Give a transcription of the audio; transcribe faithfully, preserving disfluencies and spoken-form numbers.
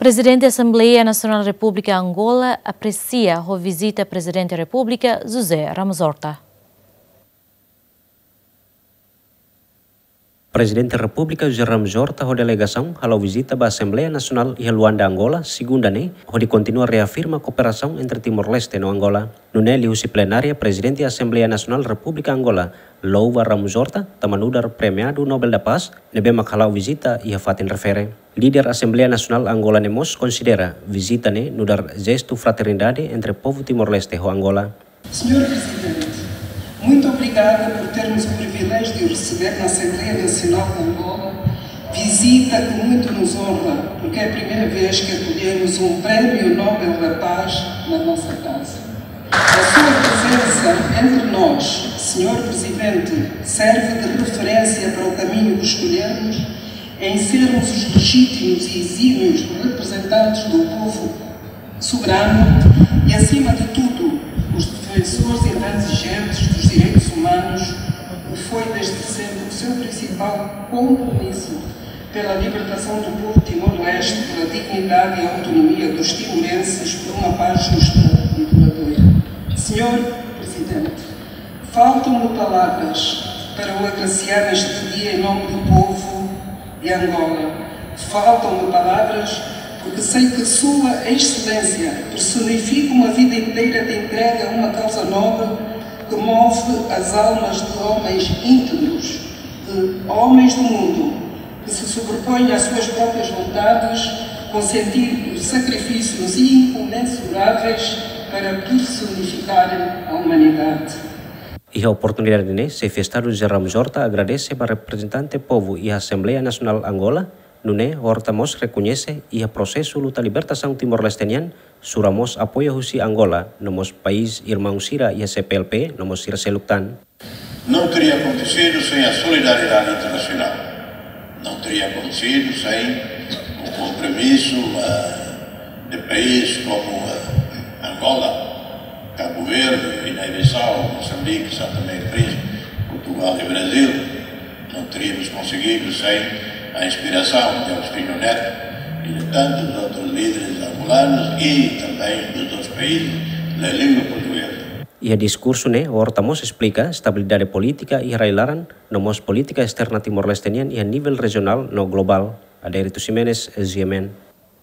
Prezidente Asembleia Nasionál Repúblika Angola apresia ho vizita Prezidente Repúblika José Ramos Horta. Prezidente Repúblika José Ramos Horta ho delegasaun hala'o vizita ba Asembleia Nasionál iha Luanda, Angola, segunda ne'e, hodi kontinua reafirma kooperasaun entre Timor-Leste no Angola. Nune'e liuhusi plenária Prezidente Asembleia Nasionál Repúblika Angola, Louva Ramos Horta, tama nu'udar premiadu Nobel da Paz, ne'ebé mak hala'o vizita iha fatin refere. Líder Asembleia Nasionál Angola ne'e mós konsidera vizita ne'e nu'udar jestu fraternidade entre povu Timor-Leste ho Angola. Senhor Presidente, muito obrigada por termos o privilégio de o receber na Assembleia Nacional de Angola, visita que muito nos honra, porque é a primeira vez que acolhemos um Prémio Nobel da Paz na nossa casa. A sua presença entre nós, Senhor Presidente, serve de referência para o caminho que escolhemos em sermos os legítimos e exímios representantes do povo soberano e, acima de tudo, os defensores intransigentes dos direitos humanos, que foi desde sempre o seu principal compromisso pela libertação do povo Timor-Leste, pela dignidade e autonomia dos timorenses, por uma paz justa e duradoura. Senhor Presidente, faltam-me palavras para o agraciar neste dia em nome do povo de Angola. Faltam-me palavras porque sei que Sua Excelência personifica uma vida inteira de entrega a uma causa nobre que move as almas de homens íntegros, de homens do mundo, que se sobrepõem às suas próprias vontades, consentindo sacrifícios incomensuráveis para personificarem a humanidade. Iha oportunidade ne'e, Xefe Estadu José Ramos Horta agradese ba reprezentante povu iha Asembleia Nasionál Angola, nune'e Horta mós rekoñese iha prosesu luta libertasaun Timor-Leste nian, sura mós apoiu husi Angola, no mós país irmaun sira iha C P L P, no mós sira seluk tan. Não teria acontecido sem a solidariedade internacional. Não teria acontecido sem o compromisso, eh, de países como, eh, Angola, Cabo Verde, Guiné-Bissau, Moçambique, São Tomé e Príncipe, Portugal e Brasil. Não teríamos conseguido sem a inspiração de Agostinho Neto e de tantos outros líderes angolanos e também dos outros países da língua portuguesa. Iha diskursu ne'e, Horta mós esplika estabilidade polítika iha rai-laran, no mós polítika esterna Timor-Leste nian iha nivel rejionál no globál. Adérito Ximenes, G M N.